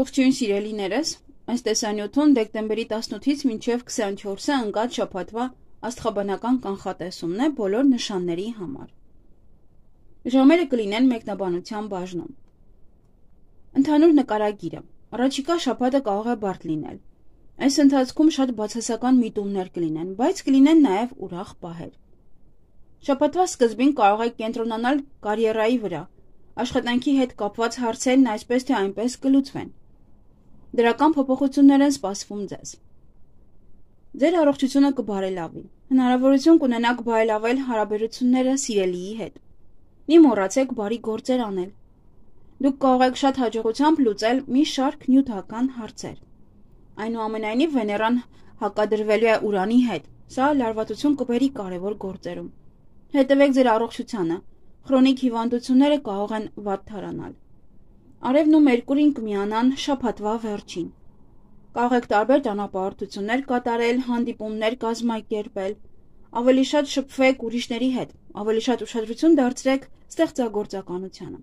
Ողջույն սիրելիներս, այս տեսանյութում դեկտեմբերի 18-ից մինչև 24-ը ընկած շաբաթվա աստղաբանական կանխատեսումն է բոլոր նշանների համար։ Ժամերը կլինեն մեկնաբանության բաժնում։ Ընդհանուր նկարագիրը։ Առաջիկա շաբաթը կարող է բարդ լինել։ Այս ընթացքում շատ բացասական միտումներ կլինեն, բայց կլինեն նաև ուրախ պահեր։ Շաբաթվա սկզբին կարող եք կենտրոնանալ կարիերայի վրա։ Աշխատանքի հետ կապված հարցերն այսպես թե այնպես կլուծվեն։ Դրական փոփոխություններ են սպասվում ձեզ։ Ձեր առողջությունը կբարելավի։ Հնարավորություն կունենաք բարելավել հարաբերությունները սիրելիի հետ։ Մի մոռացեք բարի գործեր անել։ Դուք կարող եք շատ հաջողությամբ լուծել մի շարք նյութական հարցեր։ Այնուամենայնիվ Վեներան հակադրվելու է Ուրանի հետ։ Սա լարվածություն կբերի կարևոր գործերում։ Հետևեք ձեր առողջությանը։ Քրոնիկ հիվանդությունները կարող են վատթարանալ։ Արևն ու Մերկուրին կմիանան շաբաթվա վերջին։ Կարող եք տարբեր ճանապարհորդություններ կատարել, հանդիպումներ կազմակերպել, ավելի շատ շփվեք ուրիշների հետ, ավելի շատ ուշադրություն դարձրեք ստեղծագործականությանը։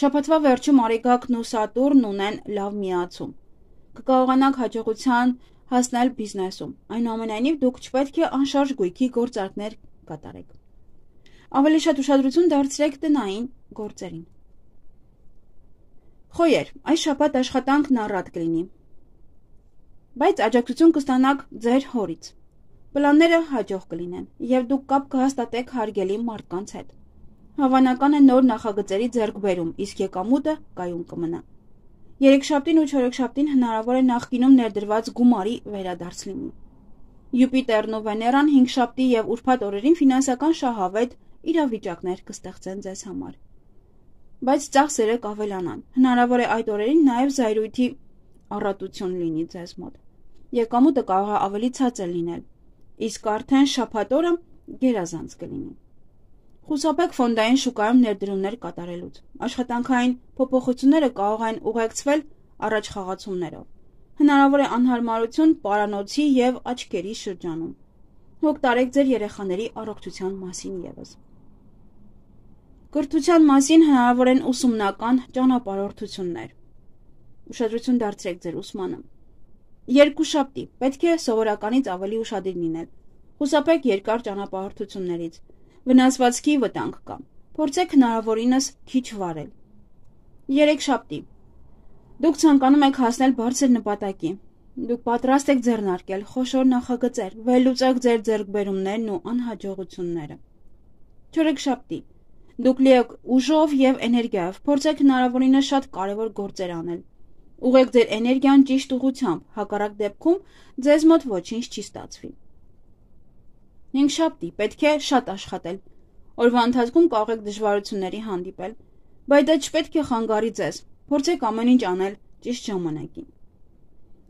Շաբաթվա վերջում Արեգակն ու Սատուրն ունեն լավ միացում։ Կկարողանաք հաջողության հասնել բիզնեսում։ Այնուամենայնիվ դուք չպետք է անշարժ գույքի գործարքներ կատարեք։ Ավելի շատ ուշադրություն դարձրեք տնային գործերին։ Խոյեր, այս շաբաթ աշխատանքն առատ կլինի, բայց աջակցություն կստանաք ձեր հորից։ Պլանները հաջող կլինեն, եւ դուք կապ կհաստատեք հարգելի մարդկանց հետ։ Հավանական է նոր նախագծերի ձեռքբերում, իսկ եկամուտը կայուն կմնա։ Երեքշաբթին ու չորեքշաբթին հնարավոր է նախկինում ներդրված գումարի վերադարձ լինի։ Յուպիտերն ու Վեներան հինգշաբթի եւ ուրբաթ օրերին ֆինանսական շահավետ իրավիճակներ կստեղծեն ձեզ համար։ Բայց ծախսերը կավելանան։ Հնարավոր է այդ օրերին նաև զայրույթի առատություն լինի ձեզ մոտ։ Եկամուտը կարող է ավելի ցածր լինել, իսկ արդեն շաբաթ օրը գերազանց կլինի։ Խուսափեք ֆոնդային շուկայում ներդրումներ կատարելուց։ Աշխատանքային փոփոխությունները կարող են ուղեկցվել առաջխաղացումներով։ Հնարավոր է անհարմարություն պարանոցի եւ աչքերի շրջանում։ Հոգ տարեք ձեր երեխաների առողջության մասին եւս։ Կրթության մասին հնարավոր են ուսումնական ճանապարհորդություններ։ Ուշադրություն դարձրեք ձեր ուսմանը։ Երկուշաբթի պետք է սովորականից ավելի ուշադիր լինել։ Խուսափեք երկար ճանապարհորդություններից։ Վնասվածքի վտանգ կա։ Փորձեք հնարավորինս քիչ վարել։ Երեքշաբթի դուք ցանկանում եք հասնել բարձր նպատակի։ Դուք պատրաստ եք ձեռնարկել խոշոր նախագծեր, վերլուծեք ձեր ձեռքբերումներն ու անհաջողությունները։ Չորեքշաբթի դուք լի եք ուժով եւ էներգիայով, փորձեք հնարավորինս շատ կարևոր գործեր անել։ Ուղղեք ձեր էներգիան ճիշտ ուղղությամբ, հակառակ դեպքում ձեզ մոտ ոչինչ չի ստացվի։ Հինգշաբթի պետք է շատ աշխատել։ Օրվա ընթացքում կարող եք դժվարությունների հանդիպել, բայց դա չպետք է խանգարի ձեզ։ Փորձեք ամեն ինչ անել ճիշտ ժամանակին։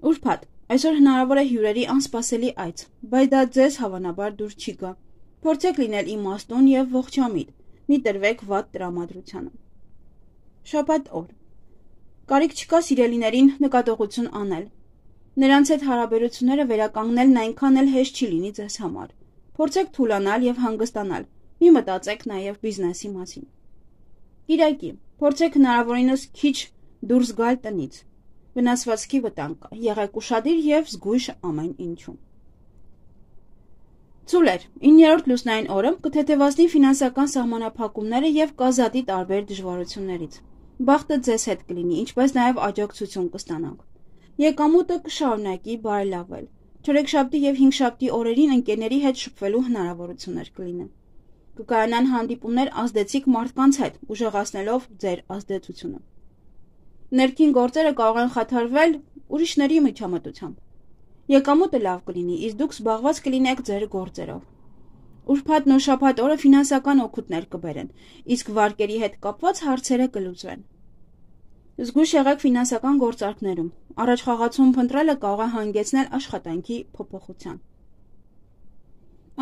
Ուրբաթ այսօր հնարավոր է հյուրերի անսպասելի այց, բայց դա ձեզ հավանաբար դուր չի գա։ Փորձեք լինել իմաստուն եւ ողջամիտ։ Մի տրվեք վատ տրամադրությանը։ Շաբաթ օր կարիք չկա սիրելիներին նկատողություն անել։ Նրանց հետ հարաբերությունները վերականգնելն այնքան էլ հեշտ չի լինի ձեզ համար։ Փորձեք թուլանալ եւ հանգստանալ։ Մի մտածեք նաեւ բիզնեսի մասին։ Կիրակի փորձեք հնարավորինս քիչ դուրս գալ տնից։ Վնասվածքի վտանգ կա։ Եղեք ուշադիր եւ զգույշ ամեն ինչում։ Ցուլեր 9-րդ լուսնային օրը կթեթևացնի ֆինանսական սահմանափակումները եւ կազատի տարբեր դժվարություններից։ Բախտը ձեզ հետ կլինի, ինչպես նաեւ աջակցություն կստանաք։ Եկամուտը կշարունակի բարելավել։ Չորեքշաբթի եւ հինգշաբթի օրերին ընկերների հետ շփվելու հնարավորություններ կլինեն։ Կկայանան հանդիպումներ ազդեցիկ մարդկանց հետ, ուժեղացնելով ձեր ազդեցությունը։ Ներքին գործերը կարող են խաթարվել ուրիշների միջամտությամբ։ Եկամուտը լավ կլինի, իսկ դուք զբաղված կլինեք ձեր գործերով։ Ուրբաթն ու շաբաթ օրը ֆինանսական օգուտներ կբերեն, իսկ վարկերի հետ կապված հարցերը կլուծվեն։ Զգույշ եղեք ֆինանսական գործարքներում։ Առաջխաղացում փնտրելը կարող է հանգեցնել աշխատանքի փոփոխության։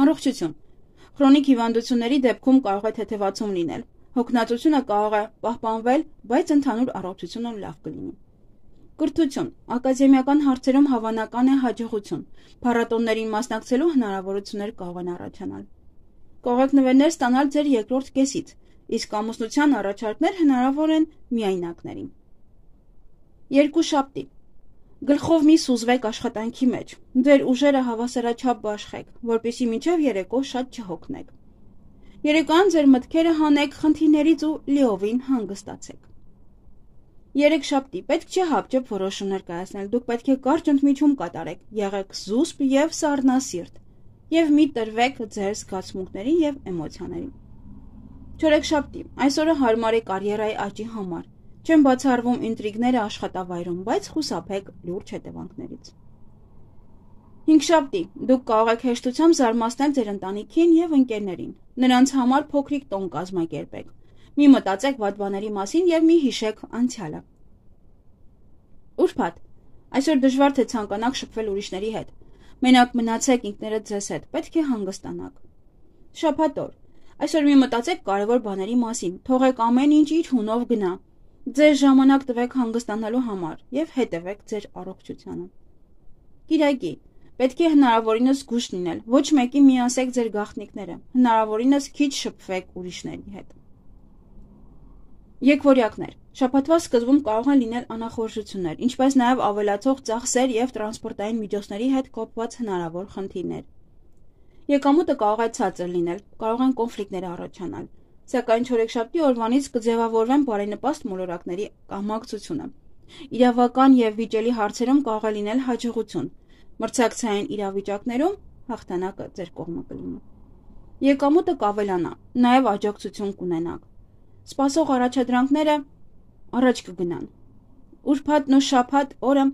Առողջություն։ Քրոնիկ հիվանդությունների դեպքում կարող է թեթևացում լինել։ Հոգնածությունը կարող է պահպանվել, բայց ընդհանուր առողջությունը լավ կլինի։ Կրթություն։ Ակադեմիական հարցերում հավանական է հաջողություն։ Փառատոներին մասնակցելու հնարավորություններ կարող են առաջանալ։ Կարող եք նվերներ ստանալ ձեր երկրորդ կեսից, իսկ ամուսնության առաջարկներ հնարավոր են միայնակներին։ Երկուշաբթի. Գլխով մի սուզվեք աշխատանքի մեջ, ձեր ուժերը հավասարաչափ բաշխեք, որպեսզի մինչև երեկո շատ չհոգնեք։ Երեկոյան ձեր մտքերը հանեք խնդիրներից ու լիովին հանգստացեք։ Երեքշաբթի. պետք չէ հապճեպ որոշումներ կայացնել, դուք պետք է կարճ ընդմիջում կատարեք, եղեք զուսպ և սառնասիրտ, և մի տրվեք ձեր զգացմունքներին և էմոցիաներին։ Չորեքշաբթի. այսօրը հարմար է կարիերայի աճի համար, չեն բացառվում ինտրիգները աշխատավայրում, բայց խուսափեք լուրջ հետևանքներից։ Հինգշաբթի. դուք կարող եք հեշտությամբ զարմացնել ձեր ընտանիքին և ընկերներին, նրանց համար փոքրիկ տոն կազմակերպեք, մի մտածեք վատ բաների մասին և մի հիշեք անցյալը։ Ուրբաթ. այսօր դժվար թե ցանկանաք շփվել ուրիշների հետ, մենակ մնացեք ինքներդ ձեզ հետ, պետք է հանգստանաք։ Շաբաթ օր. այսօր մի մտածեք կարևոր բաների մասին, թողեք ամեն ինչ իր հունով գնա, ձեր ժամանակ տվեք հանգստանալու համար և հետևեք ձեր առողջությանը։ Կիրակի. պետք է հնարավորինս զգույշ լինել, ոչ մեկի միասեք ձեր գաղտնիքները, հնարավորինս քիչ շփվեք ուրիշների հետ։ Եկվորյակներ. շաբաթվա սկզբում կարող են լինել անախորժություններ, ինչպես նաև ավելացող ծախսեր և տրանսպորտային միջոցների հետ կապված հնարավոր խնդիրներ։ Եկամուտը կարող է ցածր լինել, կարող են կոնֆլիկտներ առաջանալ, սակայն չորեքշաբթի օրվանից կձևավորվեն բարենպաստ մոլորակների կամակցությունը։ Իրավական և վիճելի հարցերում կարող է լինել հաջողություն, մրցակցային իրավիճակներում հաղթանակը ձեր կողմը կլինի։ Եկամուտը կավելանա, նաև աջակցություն կունենաք։ Սպասող առաջադրանքները առաջ կգնան։ Ուրբաթն ու շաբաթ օրը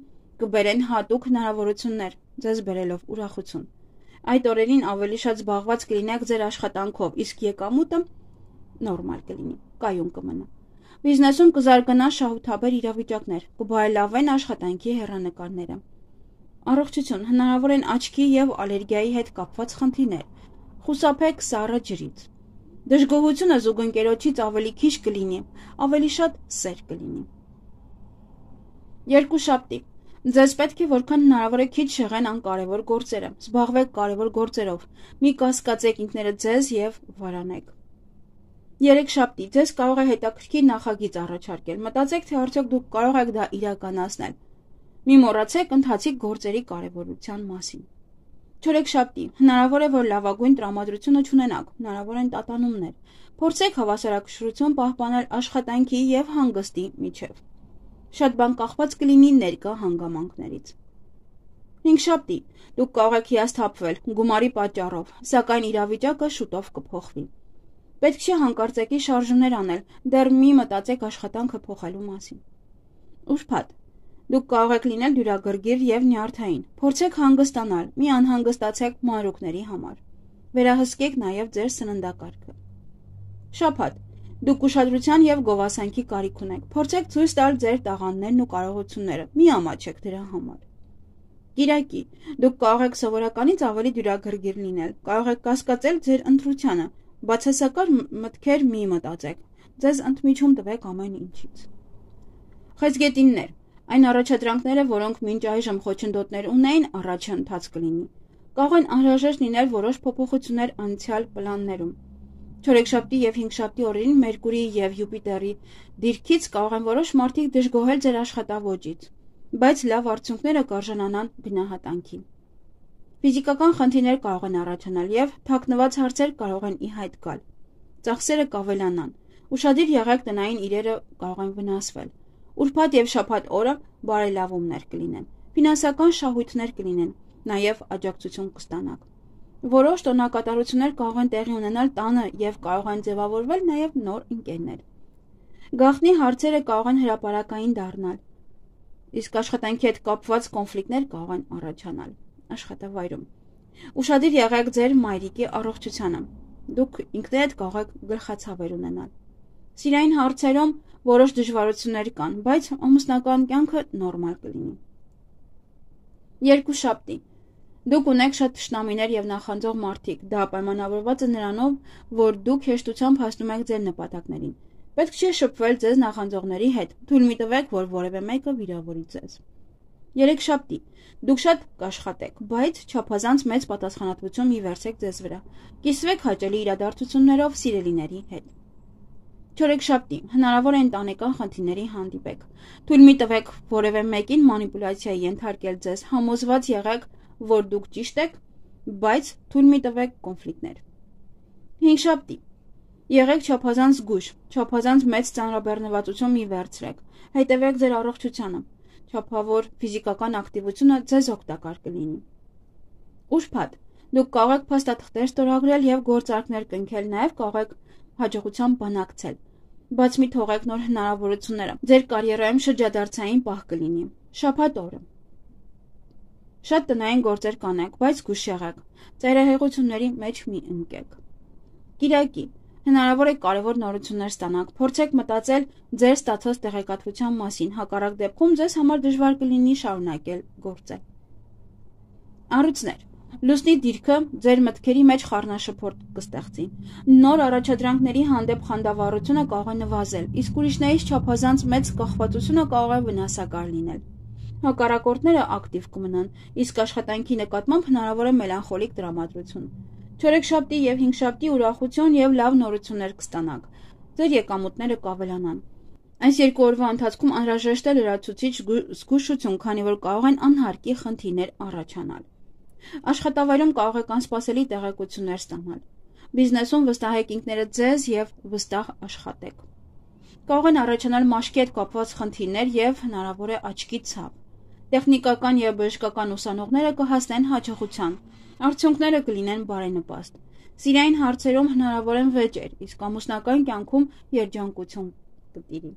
կբերեն հատուկ հնարավորություններ, ձեզ բերելով ուրախություն։ Այդ օրերին ավելի շատ զբաղված կլինեք ձեր աշխատանքով, իսկ եկամուտը նորմալ կլինի, կայուն կմնա։ Բիզնեսում կզարգանա շահութաբեր իրավիճակներ, կբարելավեն աշխատանքի հեռանկարները։ Առողջություն, հնարավոր են աչքի և ալերգիայի հետ կապված խնդիրներ, խուսափեք սառը ջրից։ Դժգոհությունը զուգընկերոջից ավելի քիչ կլինի, ավելի շատ սեր կլինի։ Երկուշաբթի. ձեզ պետք է որքան հնարավոր է քիչ շեղեն անկարևոր գործերը, զբաղվեք կարևոր գործերով, մի կասկածեք ինքներդ ձեզ և վարանեք։ Երեքշաբթի. ձեզ կարող է հետաքրքիր նախագիծ առաջարկել, մտածեք, թե արդյոք դուք կարող եք դա իրականացնել։ Մի մոռացեք ընթացիկ գործերի կարևորության մասին։ Չորեքշաբթի. հնարավոր է, որ լավագույն տրամադրությունը չունենաք, հնարավոր են տատանումներ, փորձեք հավասարակշռություն պահպանել աշխատանքի և հանգստի միջև։ Շատ բան կախված կլինի ներկա հանգամանքներից։ Հինգշաբթի. դուք կարող եք հիասթափվել գումարի պատճառով, սակայն իրավիճակը շուտով կփոխվի։ Պետք չէ հանկարծակի շարժումներ անել, դեռ մի մտածեք աշխատանքը փոխելու մասին։ Ուրբաթ. դուք կարող եք լինել դյուրագրգիռ և նյարդային, փորձեք հանգստանալ, մի անհանգստացեք մանրուքների համար։ Վերահսկեք նաև ձեր սննդակարգը։ Շաբաթ. դուք ուշադրության և գովասանքի կարիք ունեք, փորձեք ցույց տալ ձեր տաղանդներն ու կարողությունները, մի ամաչեք դրա համար։ Կիրակի. դուք կարող եք սովորականից ավելի դյուրագրգիռ լինել, կարող եք կասկածել ձեր ընտրությանը, բացասական մտքեր մի մտածեք, ձեզ ընդմիջում տվեք ամեն ինչից։ Խեցգետիններ. այն առաջադրանքները, որոնք մինչ այժմ խոչընդոտներ ունեին, առաջը ընթաց կլինի։ Կարող են անհրաժեշտ լինել որոշ փոփոխություններ անցյալ պլաններում։ Չորեքշաբթի և հինգշաբթի օրերին Մերկուրիի և Յուպիտերի դիրքից կարող են որոշ մարդիկ դժգոհել ձեր աշխատավոճից, բայց լավ արդյունքները կարժանանան գնահատանքի։ Ֆիզիկական խնդիրներ կարող են առաջանալ և թաքնված հարցեր կարող են ի հայտ գալ։ Ծախսերը կավելանան, ուշադիր եղեք տնային իրերը կարող են վնասվել։ Ուրբաթ և շաբաթ օրը բարելավումներ կլինեն, ֆինանսական շահույթներ կլինեն, նաև աջակցություն կստանաք։ Որոշ տոնակատարություններ կարող են տեղի ունենալ տանը և կարող են ձևավորվել նաև նոր ընկերներ։ Գաղտնի հարցերը կարող են հրապարակային դառնալ, իսկ աշխատանքի հետ կապված կոնֆլիկտներ կարող են առաջանալ աշխատավայրում։ Ուշադիր եղեք ձեր մայրիկի առողջությանը, դուք ինքներդ կարող եք գլխացավեր ունենալ։ Սիրային հարցերում որոշ դժվարություններ կան, բայց ամուսնական կյանքը նորմալ կլինի։ Երկուշաբթի. դուք ունեք շատ թշնամիներ և նախանձող մարդիկ, դա պայմանավորված է նրանով, որ դուք հեշտությամբ հասնում եք ձեր նպատակներին։ Պետք չէ շփվել ձեզ նախանձողների հետ, թույլ մի տվեք, որ որևէ մեկը վիրավորի ձեզ։ Երեքշաբթի. դուք շատ կաշխատեք, բայց չափազանց մեծ պատասխանատվություն մի վերցեք ձեզ վրա։ Կիսվեք հաճելի իրադարձություններով սիրելիների հետ։ Չորեքշաբթի հնարավոր է ընտանեկան խնդիրների հանդիպեք։ Թույլ մի տվեք որևէ մեկին մանիպուլյացիայի ենթարկել ձեզ, համոզված եղեք, որ դուք ճիշտ եք, բայց թույլ մի տվեք կոնֆլիկտներ։ Հինգշաբթի եղեք չափազանց զգույշ, չափազանց մեծ ծանրաբեռնվածություն մի վերցրեք, հետևեք ձեր առողջությանը, չափավոր ֆիզիկական ակտիվությունը ձեզ օգտակար կլինի։ Ուրբաթ դուք կարող եք փաստաթղթեր ստորագրել եւ գործարքներ կնքել, նաեւ կարող եք հաջողության բանակցել, բայց մի թողեք նոր հնարավորությունները, ձեր կարիերայում շրջադարձային պահ կլինի։ Շաբաթ օրը շատ տնային գործեր կանեք, բայց զգույշ եղեք, ծայրահեղությունների մեջ մի ընկեք։ Կիրակի հնարավոր է կարևոր նորություններ ստանաք, փորձեք մտածել ձեր ստացած տեղեկատվության մասին, հակառակ դեպքում ձեզ համար դժվար կլինի շարունակել գործել։ Առույցներ Լուսնի դիրքը ձեր մտքերի մեջ խառնաշփոթ կստեղծի։ Նոր առաջադրանքների հանդեպ խանդավառությունը կարող է նվազել, իսկ ուրիշներից չափազանց մեծ կախվածությունը կարող է վնասակար լինել։ Հակառակորդները ակտիվ կմնան, իսկ աշխատանքի նկատմամբ հնարավոր է մելանխոլիկ տրամադրություն։ Չորեքշաբթի եւ հինգշաբթի ուրախություն եւ լավ նորություններ կստանաք։ Ձեր եկամուտները կավելանան։ Այս երկու օրվա ընթացքում անհրաժեշտ է լրացուցիչ զգուշություն, քանի որ կարող են անհարկի խնդիրներ առաջանալ։ Աշխատավայրում կարող եք անսպասելի տեղեկություններ ստանալ։ Բիզնեսում վստահեք ինքներդ ձեզ եւ վստահ աշխատեք։ Կարող են առաջանալ մաշկի հետ կապված խնդիրներ եւ հնարավոր է աչքի ցավ։ Տեխնիկական եւ բժշկական ուսանողները կհասնեն հաջողության։ Արդյունքները կլինեն բարենպաստ։ Սիրային հարցերում հնարավոր են վեճեր, իսկ ամուսնական կյանքում երջանկություն կտիրի։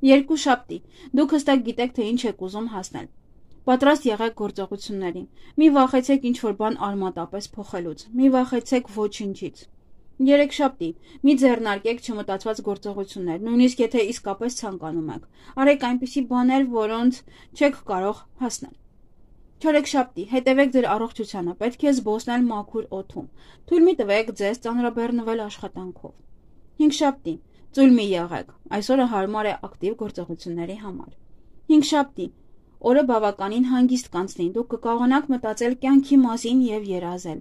Երկուշաբթի դուք հստակ գիտեք, թե ինչ եք ուզում հասնել։ Պատրաստ եղեք գործողությունների։ Մի վախեցեք ինչ-որ բան արմատապես փոխելուց։ Մի վախեցեք ոչինչից։ Երեքշաբթի մի ձեռնարկեք չմտածված գործողություններ, նույնիսկ եթե իսկապես ցանկանում եք։ Արեք այնպիսի բաներ, որոնց չեք կարող հասնել։ Չորեքշաբթի հետևեք ձեր առողջությանը, պետք է զբոսնել մաքուր օդում։ Թույլ մի տվեք ձեզ ծանրաբեռնվել աշխատանքով։ Հինգշաբթի ծույլ մի եղեք։ Այսօրը հարմար է ակտիվ գործողությունների համար։ Հինգշաբթի օրը բավականին հանգիստ կանցնի, դուք կկարողանաք մտածել կյանքի մասին եւ երազել։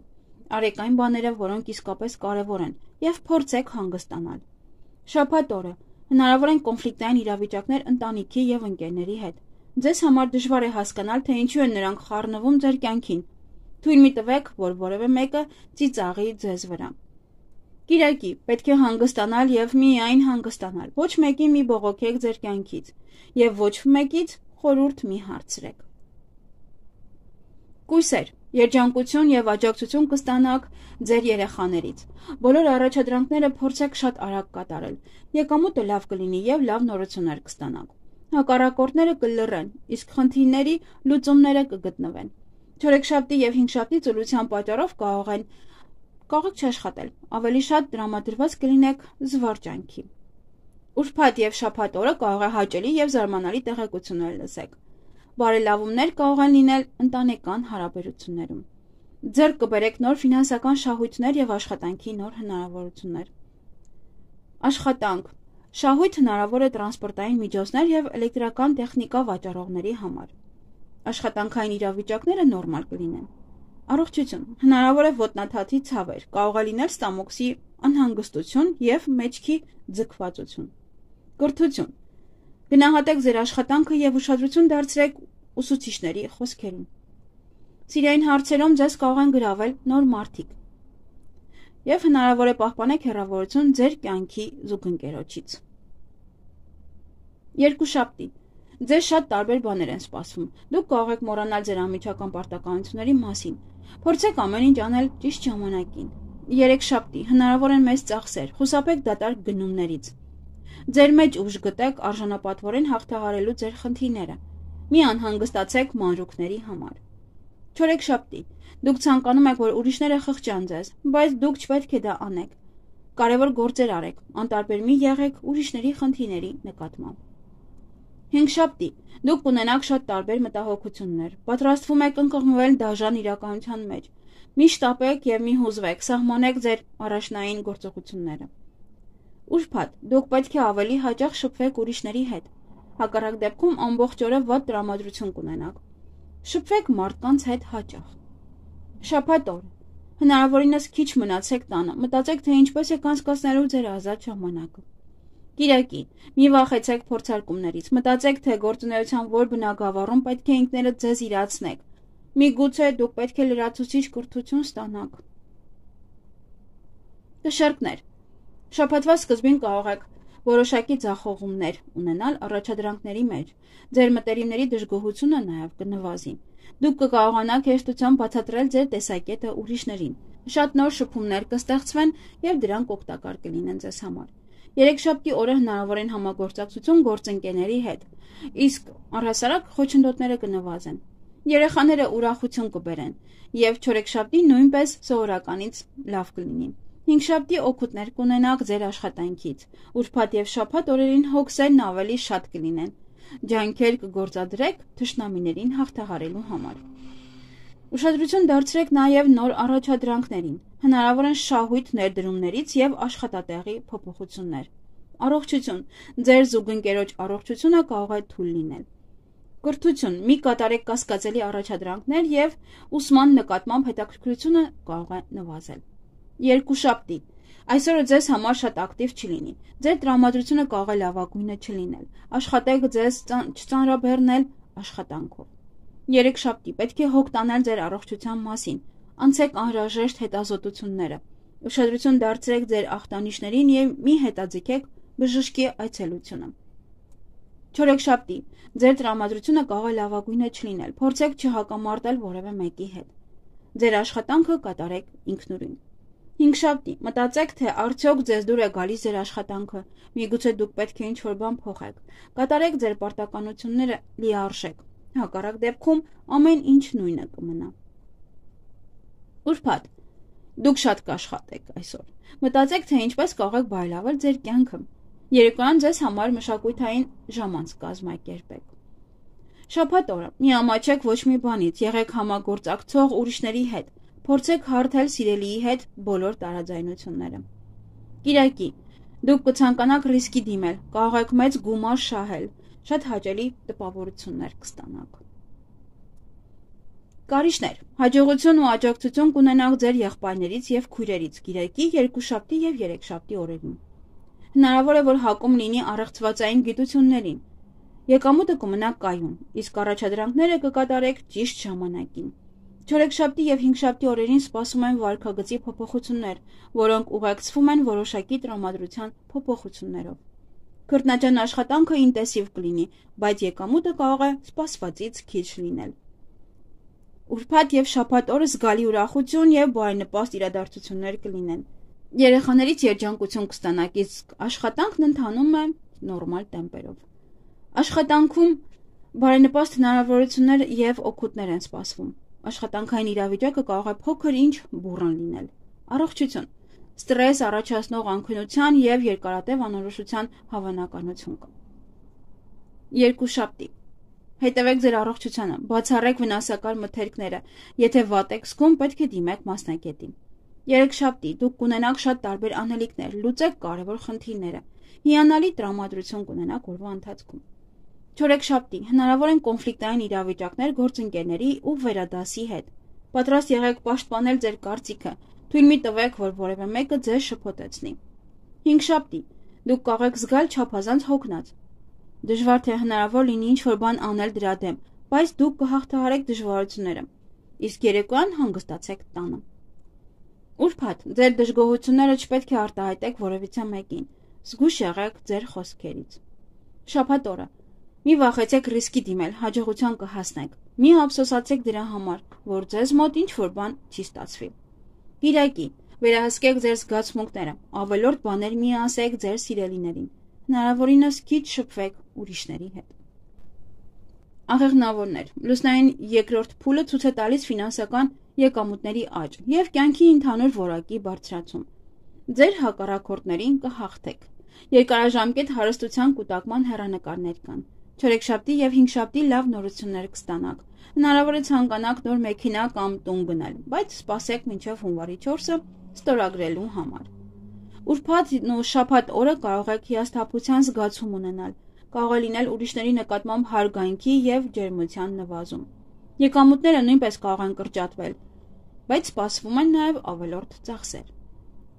Արեք այն բաները, որոնք իսկապես կարևոր են, եւ փորձեք հանգստանալ։ Շաբաթ օրը հնարավոր են կոնֆլիկտային իրավիճակներ ընտանիքի եւ ընկերների հետ։ Ձեզ համար դժվար է հասկանալ, թե ինչու են նրանք խառնվում ձեր կյանքին։ Թույլ մի տվեք, որ որևէ մեկը ծիծաղի ձեզ վրա։ Կիրակի պետք է հանգստանալ եւ միայն հանգստանալ։ Ոչ մեկին մի բողոքեք ձեր կյանքից եւ ոչ մեկից խորհուրդ մի հարցրեք։ Կույսեր, երջանկություն եւ աջակցություն կստանաք ձեր երեխաներից։ Բոլոր առաջադրանքները փորձեք շատ արագ կատարել։ Եկամուտը լավ կլինի եւ լավ նորություններ կստանաք։ Հակառակորդները կլռեն, իսկ խնդիրների լուծումները կգտնվեն։ Չորեքշաբթի եւ հինգշաբթի ծուլության պատճառով կարող եք չաշխատել։ Ավելի շատ տրամադրված կլինեք զվարճանքի։ Ուրբաթ եւ շաբաթ օրը կարող է հաճելի եւ զարմանալի տեղեկություններ լսեք։ Բարելավումներ կարող են լինել ընտանեկան հարաբերություններում։ Ձեռք կբերեք նոր ֆինանսական շահույթներ եւ աշխատանքի նոր հնարավորություններ։ Աշխատանք Շահույթ հնարավոր է տրանսպորտային միջոցներ եւ էլեկտրական տեխնիկա վաճառողների համար։ Աշխատանքային իրավիճակները նորմալ կլինեն։ Առողջություն հնարավոր է ոտնաթաթի ցավեր, կարող է լինել ստամոքսի անհանգստություն եւ մեջքի ձգվածություն։ Կրթություն գնահատեք ձեր աշխատանքը եւ ուշադրություն դարձրեք ուսուցիչների խոսքերին։ Սիրային հարցերում ձեզ կարող են գրավել նոր մարդիկ։ Եվ հնարավոր է պահպանեք հեռավորություն ձեր կյանքի զուգընկերոջից։ Երկուշաբթի ձեզ շատ տարբեր բաներ են սպասվում։ Դուք կարող եք մոռանալ ձեր անմիջական պարտականությունների մասին։ Փորձեք ամեն ինչ անել ճիշտ ժամանակին։ Երեքշաբթի հնարավոր են մեծ ծախսեր, խուսափեք դատարկ գնումներից։ Ձեր մեջ ուժ գտեք արժանապատվորեն հաղթահարելու ձեր խնդիրները։ Մի անհանգստացեք մանրուքների համար։ Չորեքշաբթի դուք ցանկանում եք, որ ուրիշները խղճան ձեզ, բայց դուք չպետք է դա անեք։ Կարևոր գործեր արեք, անտարբեր մի եղեք ուրիշների խնդիրների նկատմամբ։ Հինգշաբթի դուք կունենաք շատ տարբեր մտահոգություններ, պատրաստվում եք ընկղմվել դաժան իրականության մեջ։ Մի շտապեք եւ մի հուզվեք, սահմանեք ձեր առաջնային գործողությունները։ Ուրբաթ դուք պետք է ավելի հաճախ շփվեք ուրիշների հետ։ Հակառակ դեպքում ամբողջ օրը վատ տրամադրություն կունենաք։ Շփվեք մարդկանց հետ հաճախ։ Շաբաթ օր հնարավորինս քիչ մնացեք տանը, մտածեք, թե ինչպես եք անցկացնելու ձեր ազատ ժամանակը։ Կիրակի, մի վախեցեք փորձարկումներից, մտածեք, թե գործունեության որ բնագավառում պետք է ինքներդ ձեզ իրացնեք, միգուցե դուք պետք է լրացուցիչ կրթություն ստանաք։ Կշեռքներ, շաբաթվա սկզբին կարող եք որոշակի ձախողումներ ունենալ առաջադրանքների մեջ, ձեր մտերիմների դժգոհությունը նաև կնվազի, դուք կկարողանաք հեշտությամբ բացատրել ձեր տեսակետը ուրիշներին, շատ նոր շփումներ կստեղծվեն և դրանք օգտակար կլինեն ձեզ համար։ Երեքշաբթի օրը հնարավոր են համագործակցություն գործընկերների հետ, իսկ առհասարակ խոչընդոտները կնվազեն։ Երեխաները ուրախություն կբերեն, և չորեքշաբթի նույնպես սովորականից լավ կլինի։ Հինգշաբթի օգուտներ կունենաք ձեր աշխատանքից, ուրբաթ և շաբաթ օրերին հոգսերն ավելի շատ կլինեն, ջանքեր կգործադրեք թշնամիներին հաղթահարելու համար։ Ուշադրություն դարձրեք նաև նոր առաջադրանքներին, հնարավոր են շահույթ ներդրումներից և աշխատատեղի փոփոխություններ։ Առողջություն, ձեր զուգընկերոջ առողջությունը կարող է թույլ լինել։ Կրթություն, մի կատարեք կասկածելի առաջադրանքներ և ուսման նկատմամբ հետաքրքրությունը կարող է նվազել։ Երկուշաբթի, այսօրը ձեզ համար շատ ակտիվ չլինի, ձեր տրամադրությունը կարող է լավագույնը չլինել, աշխատեք ձեզ չծանրաբեռնել աշխատանքով։ Երեքշաբթի, պետք է հոգ տանել ձեր առողջության մասին, անցեք անհրաժեշտ հետազոտությունները, ուշադրություն դարձրեք ձեր ախտանիշներին և մի հետաձգեք բժշկի այցելությունը։ Չորեքշաբթի, ձեր տրամադրությունը կարող է լավագույնը չլինել, փորձեք չհակամարտել որևէ մեկի հետ։ Ձեր աշխատանքը կատարեք ինքնուրույն։ Հինգշաբթի, մտածեք, թե արդյոք ձեզ դուր է գալիս ձեր աշխատանքը, միգուցե դուք պետք է ինչ-որ բան փոխեք, կատարեք ձեր պարտականությունները լիարժեք, հակառակ դեպքում ամեն ինչ նույնը կմնա։ Ուրբաթ, դուք շատ կաշխատեք այսօր, մտածեք, թե ինչպես կարող եք բարելավել ձեր կյանքը, երեկոյան ձեզ համար մշակութային ժամանց կազմակերպեք։ Շաբաթ օրը, մի ամաչեք ոչ մի բանից, եղեք համագործակցող ուրիշների հետ, փորձեք հարթել սիրելիի հետ բոլոր տարաձայնությունները։ Կիրակի, դուք կցանկանաք ռիսկի դիմել, կարող եք մեծ գումար շահել, շատ հաճելի տպավորություններ կստանաք։ Կարիճներ, հաջողություն ու աջակցություն կունենաք ձեր եղբայրներից և քույրերից կիրակի, երկուշաբթի և երեքշաբթի օրերին։ Հնարավոր է, որ հակում լինի առեղծվածային գիտություններին։ Եկամուտը կմնա կայուն, իսկ առաջադրանքները կկատարեք ճիշտ ժամանակին։ Չորեքշաբթի և հինգշաբթի օրերին սպասում են վարքագծի փոփոխություններ, որոնք ուղեկցվում են որոշակի տրամադրության փոփոխություններով։ Քրտնաջան աշխատանքը ինտենսիվ կլինի, բայց եկամուտը կարող է սպասվածից քիչ լինել։ Ուրբաթ և շաբաթ օրը զգալի ուրախություն և բարենպաստ իրադարձություններ կլինեն։ Երեխաներից երջանկություն կստանաք, իսկ աշխատանքն ընթանում է նորմալ տեմպերով։ Աշխատանքում բարենպաստ հնարավորություններ և օգուտներ են սպասվում։ Աշխատանքային իրավիճակը կարող է փոքր ինչ բուռն լինել։ Առողջություն, ստրես առաջացնող անքնության և երկարատև անորոշության հավանականություն կա։ Երկուշաբթի, հետևեք ձեր առողջությանը, բացառեք վնասակար մթերքները, եթե վատ եք զգում, պետք է դիմեք մասնագետի։ Երեքշաբթի, դուք կունենաք շատ տարբեր անելիքներ, լուծեք կարևոր խնդիրները, հիանալի տրամադրություն կունենաք օրվա ընթացքում։ Չորեքշաբթի, հնարավոր են կոնֆլիկտային իրավիճակներ գործընկերների ու վերադասի հետ։ Պատրաստ եղեք պաշտպանել ձեր կարծիքը, թույլ մի տվեք, որ որևէ մեկը ձեզ շփոթեցնի։ Հինգշաբթի, դուք կարող եք զգալ չափազանց հոգնած։ Դժվար թե հնարավոր լինի ինչ-որ բան անել դրա դեմ, բայց դուք կհաղթահարեք դժվարությունները, իսկ երեկոյան հանգստացեք տանը։ Ուրբաթ, ձեր դժգոհությունները չպետք է արտահայտեք որևիցե մեկին, զգույշ եղեք ձեր խոսքերից։ Շաբաթ օրը, մի վախեցեք ռիսկի դիմել, հաջողության կհասնեք, մի ափսոսացեք դրա համար, որ ձեզ մոտ ինչ-որ բան չի ստացվի։ Կիրակի, վերահսկեք ձեր զգացմունքները, ավելորդ բաներ մի ասեք ձեր սիրելիներին, հնարավորինս քիչ շփվեք ուրիշների հետ։ Աղեղնավորներ, լուսնային երկրորդ փուլը ցույց է տալիս ֆինանսական եկամուտների աճ և կյանքի ընդհանուր որակի բարձրացում։ Ձեր հակառակորդներին կհաղթեք։ Երկարաժամկետ հարստության կուտակման հեռանկարներ կան։ Չորեքշաբթի և հինգշաբթի լավ նորություններ կստանաք։ Հնարավոր է ցանկանաք նոր մեքենա կամ տուն գնել, բայց սպասեք մինչև հունվարի 4-ը ստորագրելու համար։ Ուրբաթ ու շաբաթ օրը կարող եք հիասթափության զգացում ունենալ, կարող է լինել ուրիշների նկատմամբ հարգանքի և ջերմության նվազում։ Եկամուտները նույնպես կարող են կրճատվել, բայց սպասվում են նաև ավելորդ ծախսեր։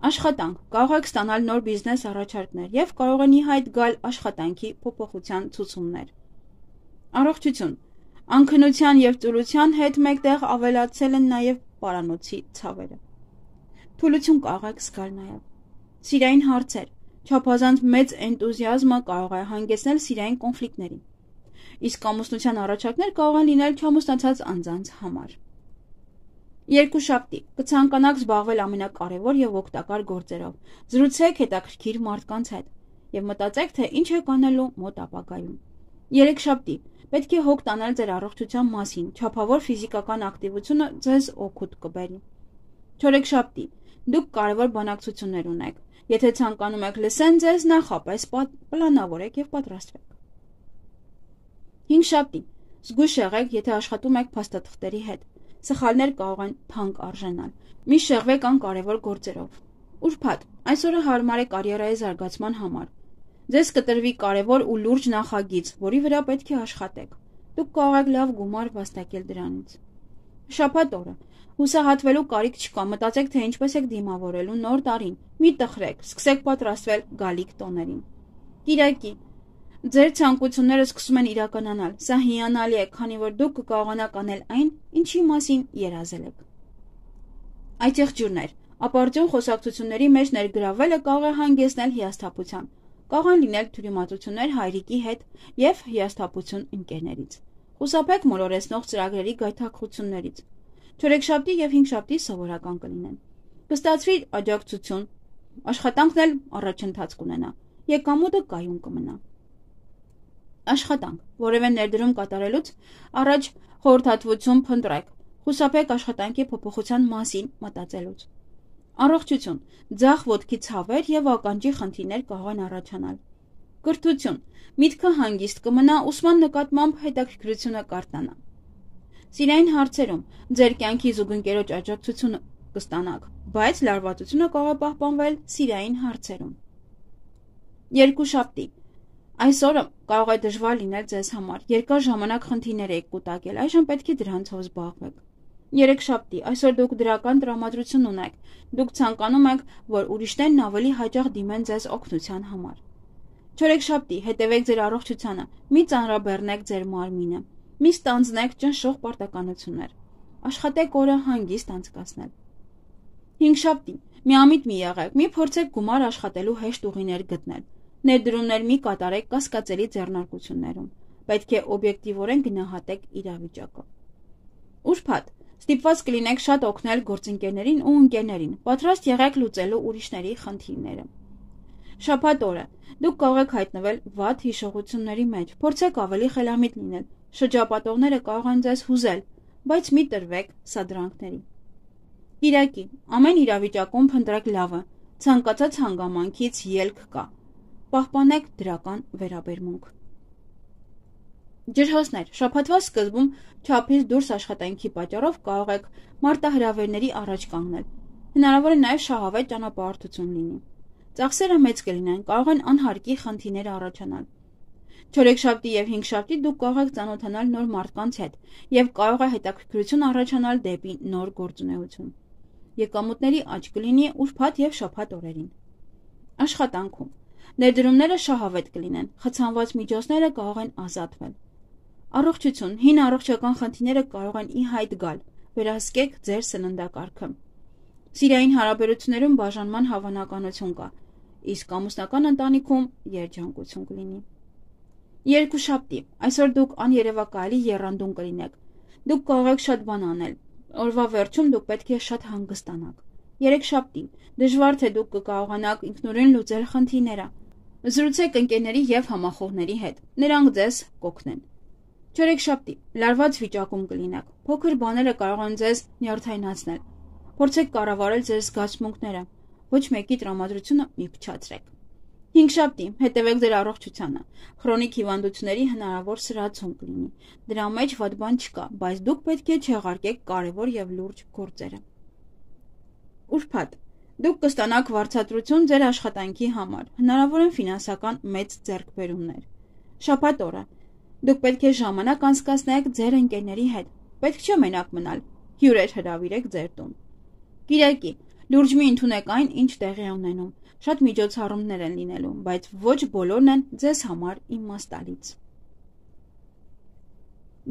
Աշխատանք, կարող եք ստանալ նոր բիզնես առաջարկներ և կարող են ի հայտ գալ աշխատանքի փոփոխության ցուցումներ։ Առողջություն, անքնության և ծուլության հետ մեկտեղ ավելացել են նաև պարանոցի ցավերը։ Թուլություն կարող եք զգալ նաև։ Սիրային հարցեր, չափազանց մեծ էնտուզիազմը կարող է հանգեցնել սիրային կոնֆլիկտների։ Իսկ ամուսնության առաջարկներ կարող են լինել չամուսնացած անձանց համար։ Երկուշաբթի, կցանկանաք զբաղվել ամենակարևոր և օգտակար գործերով, զրուցեք հետաքրքիր մարդկանց հետ և մտածեք, թե ինչ եք անելու մոտ ապագայում։ Երեքշաբթի, պետք է հոգ տանել ձեր առողջության մասին, չափավոր ֆիզիկական ակտիվությունը ձեզ օգուտ կբերի։ Չորեքշաբթի, դուք կարևոր բանակցություններ ունեք, եթե ցանկանում եք լսեն ձեզ, նախապես պլանավորեք և պատրաստվեք։ Հինգշաբթի, զգույշ եղեք, եթե աշխատում եք փաստաթղթերի հետ, սխալներ կարող են թանկ արժենալ, մի շեղվեք անկարևոր գործերով։ Ուրբաթ, այսօրը հարմար է կարիերայի զարգացման համար։ Ձեզ կտրվի կարևոր ու լուրջ նախագիծ, որի վրա պետք է աշխատեք։ Դուք կարող եք լավ գումար վաստակել դրանից։ Շաբաթ օրը, հուսահատվելու կարիք չկա, մտածեք, թե ինչպես եք դիմավորելու նոր տարին, մի տխրեք, սկսեք պատրաստվել գալիք տոներին։ Կիրակի, ձեր ցանկությունները սկսում են իրականանալ, սա հիանալի է, քանի որ դուք կկարողանաք անել այն, ինչի մասին երազել եք։ Այցեղջյուրներ, ապարդյուն խոսակցությունների մեջ ներգրավելը կարող է հանգեցնել հիասթափության, կարող են լինել թյուրիմացություններ հայրիկի հետ և հիասթափություն ընկերներից։ Խուսափեք մոլորեցնող ծրագրերի գայթակղություններից։ Չորեքշաբթի և հինգշաբթի սովորական կլինեն։ Կստացվի աջակցություն, աշխատանքն էլ առաջընթաց կունենա, եկամուտը կայուն կմնա։ Աշխատանք, որևէ ներդրում կատարելուց առաջ խորհրդատվություն փնտրեք, խուսափեք աշխատանքի փոփոխության մասին մտածելուց։ Առողջություն, ձախ ոտքի ցավեր և ականջի խնդիրներ կարող են առաջանալ։ Կրթություն, միտքը հանգիստ կմնա, ուսման նկատմամբ հետաքրքրությունը կարթնանա։ Սիրային հարցերում ձեր կյանքի զուգընկերոջ աջակցությունը կստանաք, բայց լարվածությունը կարող է պահպանվել սիրային հարցերում։ Երկուշաբթի, այսօրը կարող է դժվար լինել ձեզ համար, երկար ժամանակ խնդիրներ եք կուտակել, այժմ պետք է դրանցով զբաղվեք։ Երեքշաբթի, այսօր դուք դրական տրամադրություն ունեք, դուք ցանկանում եք, որ ուրիշներն ավելի հաճախ դիմեն ձեզ օգնության համար։ Չորեքշաբթի, հետևեք ձեր առողջությանը, մի ծանրաբեռնեք ձեր մարմինը, մի ստանձնեք ճնշող պարտականություններ, աշխատեք օրը հանգիստ անցկացնել։ Հինգշաբթի, միամիտ մի եղեք, մի փորձեք գումար աշխատելու հեշտ ուղիներ գտնել, ներդրումներ մի կատարեք կասկածելի ձեռնարկություններում, պետք է օբյեկտիվորեն գնահատեք իրավիճակը։ Ուրբաթ, ստիպված կլինեք շատ օգնել գործընկերներին ու ընկերներին, պատրաստ եղեք լուծելու ուրիշների խնդիրները։ Շաբաթ օրը, դուք կարող եք հայտնվել վատ հիշողությունների մեջ, փորձեք ավելի խելամիտ լինել, շրջապատողները կարող են ձեզ հուզել, բայց մի տրվեք սադրանքների։ Կիրակի, ամեն իրավիճակում փնտրեք լավը, ցանկացած հանգամանքից ելք կա, պահպանեք դրական վերաբերմունք։ Ջրհոսներ, շաբաթվա սկզբում չափից դուրս աշխատանքի պատճառով կարող եք մարտահրավերների առաջ կանգնել, հնարավոր է նաև շահավետ ճանապարհորդություն լինի։ Ծախսերը մեծ կլինեն, կարող են անհարկի խնդիրներ առաջանալ։ Չորեքշաբթի և հինգշաբթի դուք կարող եք ծանոթանալ նոր մարդկանց հետ և կարող է հետաքրքրություն առաջանալ դեպի նոր գործունեություն։ Եկամուտների աճ կլինի ուրբաթ և շաբաթ օրերին։ Աշխատանքում ներդրումները շահավետ կլինեն, խցանված միջոցները կարող են ազատվել։ Առողջություն, հին առողջական խնդիրները կարող են ի հայտ գալ, վերահսկեք ձեր սննդակարգը։ Սիրային հարաբերություններում բաժանման հավանականություն կա, իսկ ամուսնական ընտանիքում երջանկություն կլինի։ Երկուշաբթի, այսօր դուք աներևակայելի եռանդուն կլինեք։ Դուք կարող եք շատ բան անել։ Օրվա վերջում դուք պետք է շատ հանգստանաք։ Երեքշաբթի, դժվար թե դուք կկարողանաք ինքնուրույն լուծել խնդիրները։ Զրուցեք ընկերների և համախոհների հետ, նրանք ձեզ կօգնեն։ Չորեքշաբթի, լարված վիճակում կլինեք, փոքր բաները կարող են ձեզ նյարդայնացնել։ Փորձեք կառավարել ձեր զգացմունքները, ոչ մեկի տրամադրությունը մի փչացրեք։ Հինգշաբթի, հետևեք ձեր առողջությանը, քրոնիկ հիվանդությունների հնարավոր սրացում կլինի, դրա մեջ վատ բան չկա, բայց դուք պետք է չեղարկեք կարևոր և լուրջ գործերը։ Ուրբաթ, դուք կստանաք վարձատրություն ձեր աշխատանքի համար, հնարավոր են ֆինանսական մեծ ձեռքբերումներ։ Շաբաթ օրը, դուք պետք է ժամանակ անցկացնեք ձեր ընկերների հետ, պետք չէ մենակ մնալ, հյուրեր հրավիրեք ձեր տուն։ Կիրակի, Լուրջ մի ընդունեք այն, ինչ տեղի է ունենում։ Շատ միջոցառումներ են լինելու, բայց ոչ բոլորն են ձեզ համար իմաստալից։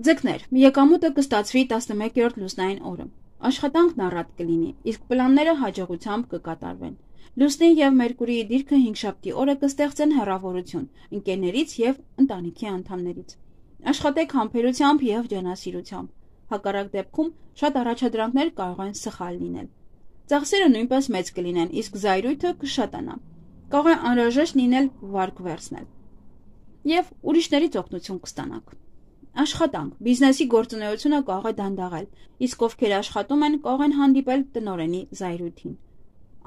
Ձկներ, եկամուտը կստացվի 11-րդ լուսնային օրը։ Աշխատանքն առատ կլինի, իսկ պլանները հաջողությամբ կկատարվեն։ Լուսնի եւ Մերկուրիի դիրքը հինգշաբթի օրը կստեղծեն հեռավորություն ընկերներից եւ ընտանիքի անդամներից։ Աշխատեք համբերությամբ եւ ջանասիրությամբ։ Հակառակ դեպքում շատ առաջադրանքներ կարող են սխալ լինել։ Ծախսերը նույնպես մեծ կլինեն, իսկ զայրույթը կշատանա։ Կարող է անհրաժեշտ լինել վարկ վերցնել եւ ուրիշներից օգնություն կստանաք։ Աշխատանք, բիզնեսի գործունեությունը կարող է դանդաղել, իսկ ովքեր աշխատում են, կարող են հանդիպել տնօրենի զայրույթին։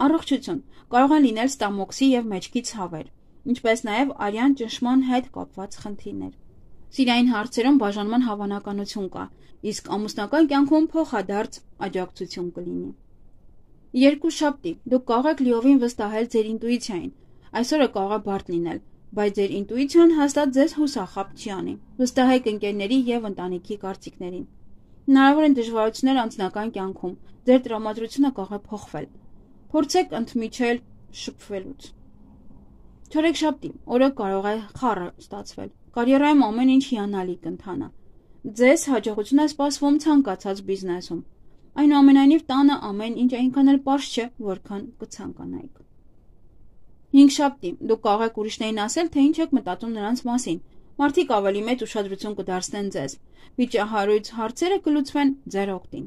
Առողջություն, կարող են լինել ստամոքսի եւ մեջքի ցավեր, ինչպես նաեւ արյան ճնշման հետ կապված խնդիրներ։ Սիրային հարցերում բաժանման հավանականություն կա, իսկ ամուսնական կյանքում փոխադարձ աջակցություն կլինի։ Երկուշաբթի, դուք կարող եք լիովին վստահել ձեր ինտուիցիային։ Այսօրը կարող է բարդ լինել, բայց ձեր ինտուիցիան հաստատ ձեզ հուսախաբ չի անի։ Վստահեք ընկերների եւ ընտանիքի կարծիքներին։ Հնարավոր են դժվարություններ անձնական կյանքում, ձեր տրամադրությունը կարող է փոխվել։ Փորձեք ընդմիջել շփվելուց։ Չորեքշաբթի, օրը կարող է խառը ստացվել։ Կարիերայում ամեն ինչ հիանալի կընթանա։ Ձեզ հաջողություն է սպասվում ցանկացած բիզնեսում։ Այնուամենայնիվ տանը ամեն ինչ այնքան էլ պարզ չէ, որքան կցանկանայիք։ Հինգշաբթի, դուք կարող եք ուրիշներին ասել, թե ինչ եք մտածում նրանց մասին։ Մարդիկ ավելի մեծ ուշադրություն կդարձնեն ձեզ։ Վիճահարույց հարցերը կլուծվեն ձեր օգտին։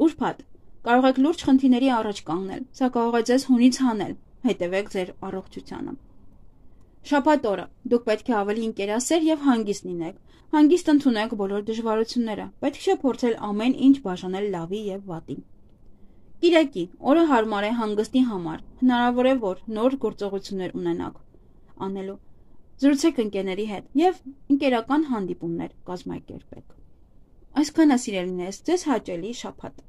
Ուրբաթ, կարող եք լուրջ խնդիրների առաջ կանգնել, սա կարող է ձեզ հունից հանել։ Հետևեք ձեր առողջությանը։ Շաբաթ օրը, դուք պետք է ավելի ինկերասեր եւ հանգիստ լինեք։ Հանգիստ ընդունեք բոլոր դժվարությունները, պետք չէ փորձել ամեն ինչ բաժանել լավի եւ վատի։ Կիրակի, օրը հարմար է հանգստի համար, հնարավոր է, որ նոր գործողություններ ունենաք անելու։ Զրուցեք ընկերների հետ եւ ընկերական հանդիպումներ կազմակերպեք։ Այսքանը սիրելիներս, ձեզ հաճելի շաբաթ։